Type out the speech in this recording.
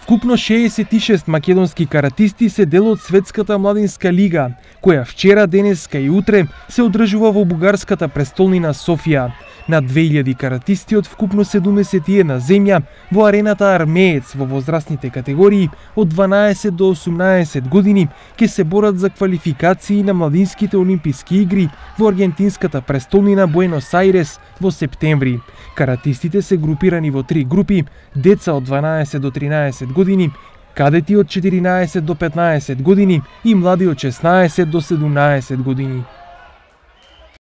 Вкупно 66 македонски каратисти се дел од Светската младинска лига, која вчера, денеска и утре се одржува во бугарската престолнина Софија. На 2000 каратисти од вкупно 71 земја во арената Армеец во возрастните категории од 12 до 18 години ќе се борат за квалификации на младинските олимписки игри во аргентинската престолнина Буенос Ајрес во септември. Каратистите се групирани во 3 групи: деца од 12 до 13 години, кадети од 14 до 15 години и млади од 16 до 17 години.